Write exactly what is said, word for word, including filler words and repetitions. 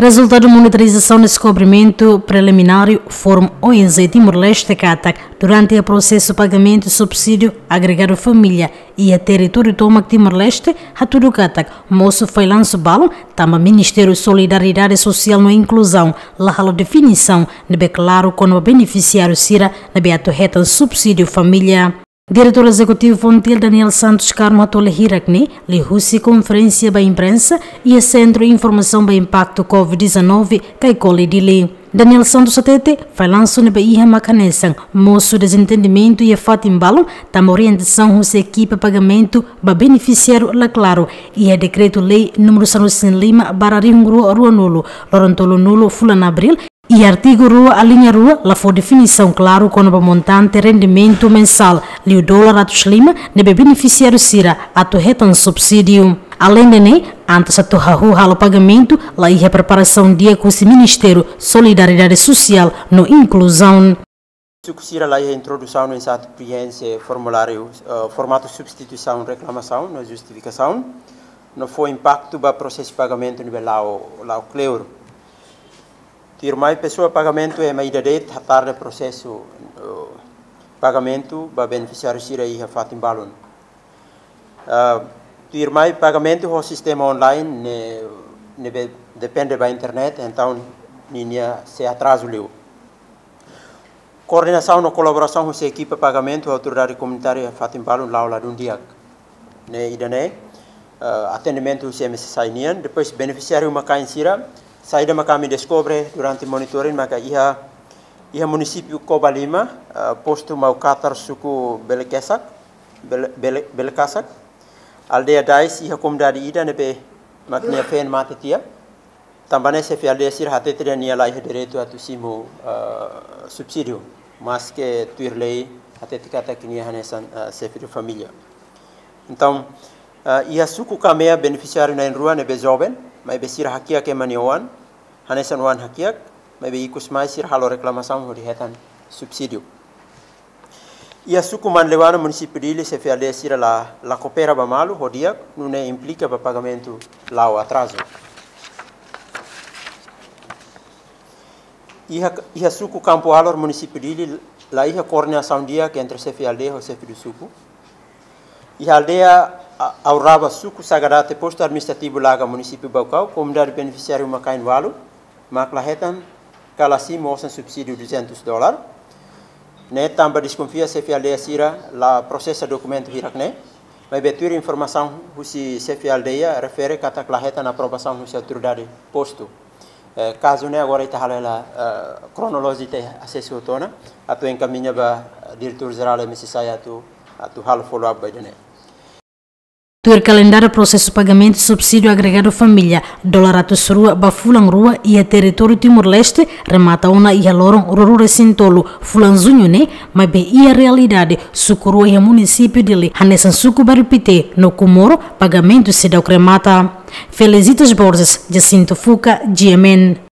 Rezultadu monitorizasaun deskobrimentu prelimináriu Fórum O N G Timor-Leste katak, durante prosesu pagamentu subsídiu agregadu família iha territóriu tomak Timor-Leste, hatudu katak mosu fallansu balun, tanba Ministériu Solidariedade Sosiál no Inkluzaun la halo definisaun ne'ebé klaru kona-ba benefisiáriu sira ne'ebé atu hetan subsídiu família. Diretór Ezekutivu Fontil, Daniel Santos Carmo, hato'o hirak ne'e liuhusi konferénsia ba imprensa iha Sentru Informasaun ba Impaktu COVID dezanove, Caicoli, Dili. Daniel Santos hatete, fallansu ne'ebé iha mak hanesan mosu dezentendimentu iha fatin balun, tanba orientasaun husi ekipa pagamentu ba benefisiáriu la klaru iha Dekretu-Lei númeru sanulu-resin-lima barra rihun rua ruanulu, loron tolunulu fulan Abríl, iha artigu rua, aliña rua, la fó definisaun klaru kona-ba montante rendimentu mensál liu dolar atus lima ne'ebé benefisiáriu sira atu hetan subsídiu. Aleinde ne'e, antes atu hahú halo pagamentu, la iha preparasaun di'ak husi Ministériu Solidariedade Sosiál no Inkluzaun. Suku sira la iha introdusaun no insertu prienxe formuláriu, eh, formatu substituisaun reklamasaun no justifikasaun, no fó impaktu ba prosesu pagamentu ne'ebé la'o, la'o kleur. Tuirmai pesoa pagamentu ema ida de'it hatarde prosesu, eh, pagamentu ba benefisiáriu sira iha fatin balun. Ah, tuirmai pagamentu ho sistema online ne'e, ne'ebé depende ba internet, entaun ninia sei atrazu liu. Koordenasaun no kolaborasaun husi ekipa pagamentu ho autoridade komunitária fatin balun la'o ladún di'ak. Ne'e ida-ne'e, eh, atendimentu husi M S S I nian, depois benefisiáriu uma-kain sira, saida mak ami deskobre durante monitoring maka iha, iha munisípiu Covalima, eh, postu Maukatar, suku Belekesak, Bele-, Bele-, Belekasak, aldeia Dais, iha komunidade ida ne'ebé mak nia feen mate tiha. Tanba ne'e xefe aldeia sira hatete dehan nia la iha direitu atu simu, ah, subsídiu, maske tuir lei hatete katak nia hanesan, ah, xefe de família. Entaun, ah, iha suku Kamea benefisiáriu na'in-rua ne'ebé joven, maibé sira hakiak ema nia oan, hanesan oan hakiak, maibé ikus mai sira halo reklamasaun hodi hetan subsídiu. Iha suku Manleuana, munisípiu Dili, xefe aldeia sira la, la koopera ba malu ho di'ak, nune'e implika ba pagamentu la'o atrazu. Iha, iha suku Kampu Alor, munisípiu Dili, la iha koordenasaun di'ak entre xefe aldeia ho xefe suku. Iha aldeia A-, Auraba, suku Sagadate, postu administrativu Laga, munisípiu Baucau, komunidade benefisiáriu uma-kain ualu mak la hetan ka la simu osan subsídiu duzentus dolar. Ne'e tanba deskonfia xefe aldeia sira la prosesa dokumentu hirak ne'e, maibé tuir informasaun husi xefe aldeia refere katak la hetan aprovasaun husi autoridade postu. Eh, kazu ne'e agora ita halo hela, eh, kronolojia, ita asesu hotu ona, atu enkamiña ba, eh, Diretór Jerál M S S I atu, atu halo follow up ba ida-ne'e. Tuir kalendáriu prosesu pagamentu subsídiu agregadu família dolar atus rua ba fulan rua iha territóriu Timor-Leste remata ona iha loron ruanulu-resin-tolu fulan Juñu ne'e, maibé iha realidade suku rua iha munisípiu Dili, hanesan suku Bairru Pité no Comoro, pagamentu seidauk remata. Felicitas Borges, Jacinto Fuca, G M N.